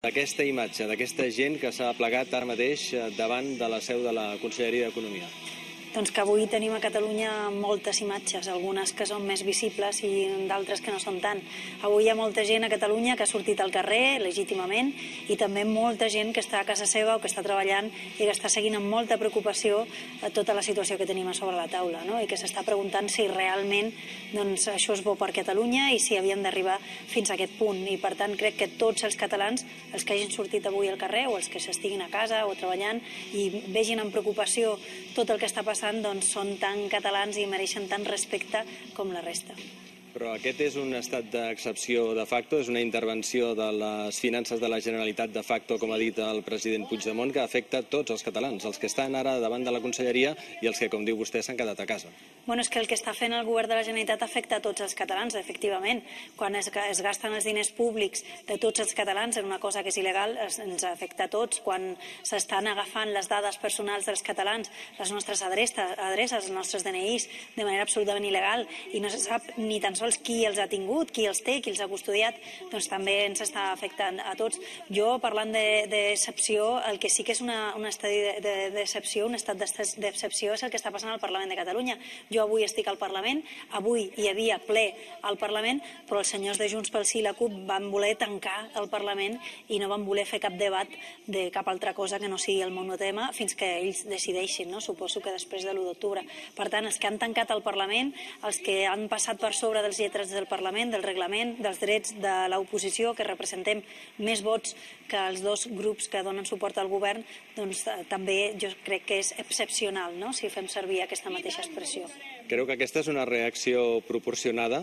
d'aquesta imatge, d'aquesta gent que s'ha plegat ara mateix davant de la seu de la Conselleria d'Economia? Doncs que avui tenim a Catalunya moltes imatges, algunes que són més visibles i d'altres que no són tant. Avui hi ha molta gent a Catalunya que ha sortit al carrer legítimament i també molta gent que està a casa seva o que està treballant i que està seguint amb molta preocupació tota la situació que tenim a sobre la taula, no? I que s'està preguntant si realment això és bo per Catalunya i si havíem d'arribar fins a aquest punt. I per tant crec que tots els catalans, els que hagin sortit avui al carrer o els que s'estiguin a casa o treballant i vegin amb preocupació tot el que està passant, doncs són tan catalans i mereixen tant respecte com la resta. Però aquest és un estat d'excepció de facto, és una intervenció de les finances de la Generalitat de facto, com ha dit el president Puigdemont, que afecta tots els catalans, els que estan ara davant de la Conselleria i els que, com diu vostè, s'han quedat a casa. Bueno, és que el que està fent el govern de la Generalitat afecta a tots els catalans, efectivament. Quan es gasten els diners públics de tots els catalans en una cosa que és il·legal, ens afecta a tots. Quan s'estan agafant les dades personals dels catalans, les nostres adreces, els nostres DNIs, de manera absolutament il·legal, i no se sap ni tan sols qui els ha tingut, qui els té, qui els ha custodiat, doncs també ens està afectant a tots. Jo, parlant d'excepció, el que sí que és un estadi d'excepció, un estat d'excepció, és el que està passant al Parlament de Catalunya. Jo avui estic al Parlament, avui hi havia ple al Parlament, però els senyors de Junts pel Sí i la CUP van voler tancar el Parlament i no van voler fer cap debat de cap altra cosa que no sigui el monotema fins que ells decideixin, no? Suposo que després de l'1 d'octubre. Per tant, els que han tancat el Parlament, els que han passat per sobre dels lletrats del Parlament, del reglament, dels drets de l'oposició, que representem més vots que els dos grups que donen suport al govern, doncs també jo crec que és excepcional, no?, si fem servir aquesta mateixa expressió. Creu que aquesta és una reacció proporcionada?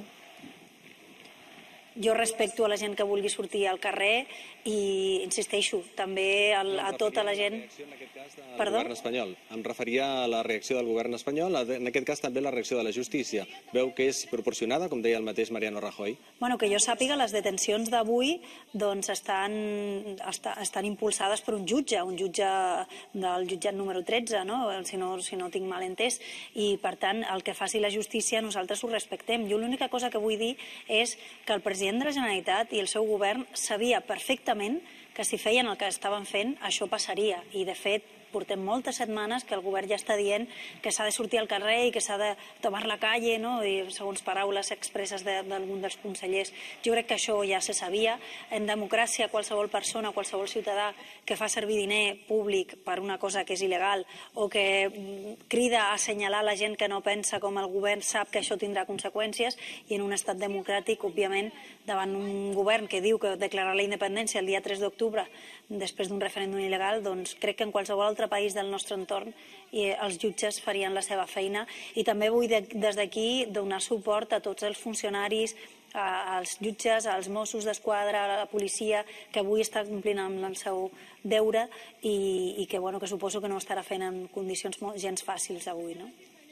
Jo respecto a la gent que vulgui sortir al carrer i insisteixo també a tota la gent. Perdó? Govern espanyol. Em referia a la reacció del govern espanyol, en aquest cas també la reacció de la justícia. Veu que és proporcionada, com deia el mateix Mariano Rajoy? Bueno, que jo sàpiga, les detencions d'avui doncs estan impulsades per un jutge del jutjat número 13, no? Si no tinc mal entès, i per tant el que faci la justícia nosaltres ho respectem. Jo l'única cosa que vull dir és que el president de la Generalitat i el seu govern sabia perfectament que si feien el que estaven fent això passaria, i de fet portem moltes setmanes que el govern ja està dient que s'ha de sortir al carrer i que s'ha de tomar la calle, no?, i segons paraules expresses d'algun dels consellers. Jo crec que això ja se sabia. En democràcia, qualsevol persona, qualsevol ciutadà que fa servir diner públic per una cosa que és il·legal o que crida a assenyalar la gent que no pensa com el govern sap que això tindrà conseqüències, i en un estat democràtic, òbviament, davant un govern que diu que declarar la independència el dia 3 d'octubre després d'un referèndum il·legal, doncs crec que en qualsevol altre país del nostre entorn els jutges farien la seva feina. I també vull des d'aquí donar suport a tots els funcionaris, als jutges, als Mossos d'Esquadra, a la policia, que avui està complint amb el seu deure i que suposo que no ho estarà fent en condicions gens fàcils avui, no?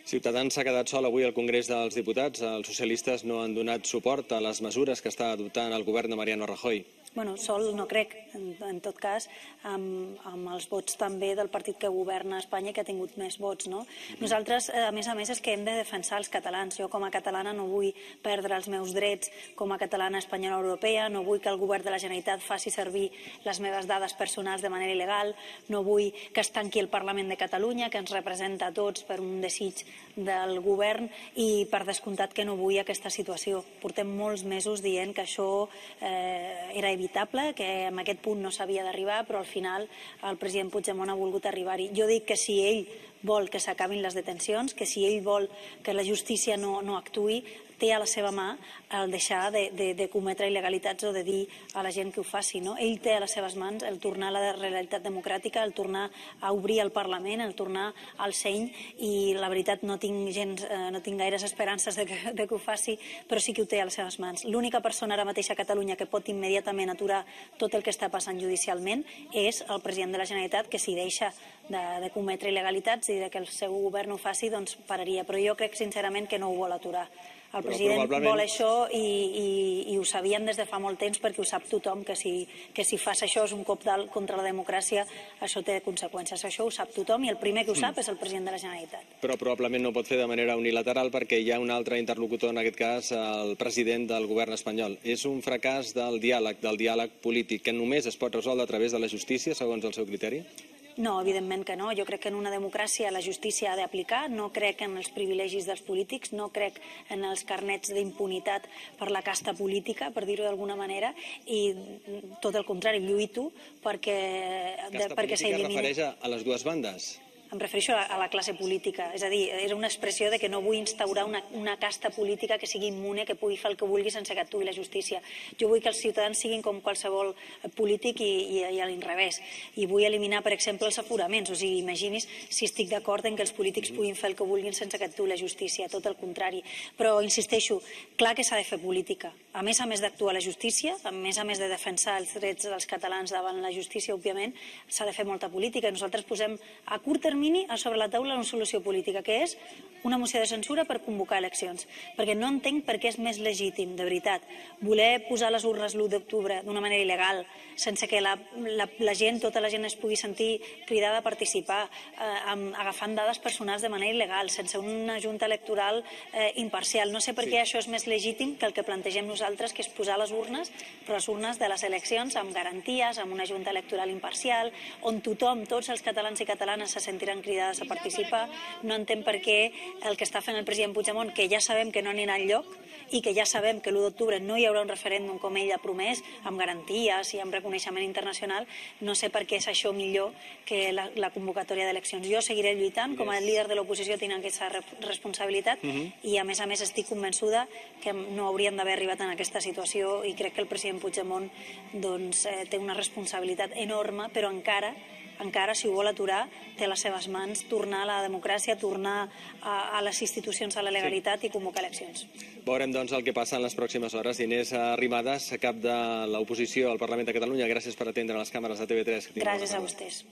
Ciutadans s'ha quedat sol avui al Congrés dels Diputats. Els socialistes no han donat suport a les mesures que està adoptant el govern de Mariano Rajoy. Bueno, sol no crec, en tot cas, amb els vots també del partit que governa a Espanya i que ha tingut més vots, no? Nosaltres, a més, és que hem de defensar els catalans. Jo, com a catalana, no vull perdre els meus drets com a catalana espanyola europea, no vull que el govern de la Generalitat faci servir les meves dades personals de manera il·legal, no vull que es tanqui el Parlament de Catalunya, que ens representa a tots per un desig del govern, i per descomptat que no vull aquesta situació. Portem molts mesos dient que això era evitable, que en aquest punt no s'havia d'arribar, però al final el president Puigdemont ha volgut arribar-hi. Jo dic que si ell vol que s'acabin les detencions, que si ell vol que la justícia no actuï, té a la seva mà el deixar de cometre il·legalitats o de dir a la gent que ho faci, no? Ell té a les seves mans el tornar a la realitat democràtica, el tornar a obrir el Parlament, el tornar al seny, i la veritat no tinc gaires esperances de que ho faci, però sí que ho té a les seves mans. L'única persona ara mateix a Catalunya que pot immediatament aturar tot el que està passant judicialment és el president de la Generalitat, que si deixa de cometre il·legalitats i que el seu govern ho faci, doncs pararia. Però jo crec sincerament que no ho vol aturar. El president vol això i ho sabien des de fa molt temps, perquè ho sap tothom, que si fas això és un cop contra la democràcia, això té conseqüències. Això ho sap tothom i el primer que ho sap és el president de la Generalitat. Però probablement no pot fer de manera unilateral perquè hi ha un altre interlocutor, en aquest cas el president del govern espanyol. És un fracàs del diàleg polític, que només es pot resoldre a través de la justícia, segons el seu criteri? No, evidentment que no. Jo crec que en una democràcia la justícia ha d'aplicar. No crec en els privilegis dels polítics, no crec en els carnets d'impunitat per la casta política, per dir-ho d'alguna manera, i tot el contrari, lluito perquè s'elimini. Casta política es refereix a les dues bandes? Em refereixo a la classe política, és a dir, era una expressió de que no vull instaurar una casta política que sigui immune, que pugui fer el que vulgui sense que actuï la justícia. Jo vull que els ciutadans siguin com qualsevol polític i a l'inrevés. I vull eliminar, per exemple, els aforaments. O sigui, imagini's si estic d'acord en que els polítics puguin fer el que vulguin sense que actuï la justícia, tot el contrari. Però, insisteixo, clar que s'ha de fer política. A més d'actuar la justícia, a més de defensar els drets dels catalans davant la justícia, òbviament, s'ha de fer molta política. Nosaltres posem a curt termini sobre la taula una solució política, que és una moció de censura per convocar eleccions. Perquè no entenc per què és més legítim, de veritat, voler posar les urnes l'1 d'octubre d'una manera il·legal, sense que la gent, tota la gent es pugui sentir cridada a participar, agafant dades personals de manera il·legal, sense una junta electoral imparcial. No sé per què això és més legítim que el que plantegem nosaltres, que és posar les urnes, però les urnes de les eleccions amb garanties, amb una junta electoral imparcial, on tothom, tots els catalans i catalanes se sentiran cridades a participar. No entenc per què el que està fent el president Puigdemont, que ja sabem que no anirà enlloc i que ja sabem que l'1 d'octubre no hi haurà un referèndum com ell ha promès, amb garanties i amb reconeixement internacional, no sé per què és això millor que la convocatòria d'eleccions. Jo seguiré lluitant, com a líder de l'oposició tinc aquesta responsabilitat i a més estic convençuda que no hauríem d'haver arribat en aquesta situació i crec que el president Puigdemont té una responsabilitat enorme, però encara, si ho vol aturar, té a les seves mans tornar a la democràcia, tornar a les institucions, a la legalitat i convocar eleccions. Veurem, doncs, el que passa en les pròximes hores. Inés Arrimadas, cap de l'oposició al Parlament de Catalunya, gràcies per atendre les càmeres de TV3. Gràcies a vostès.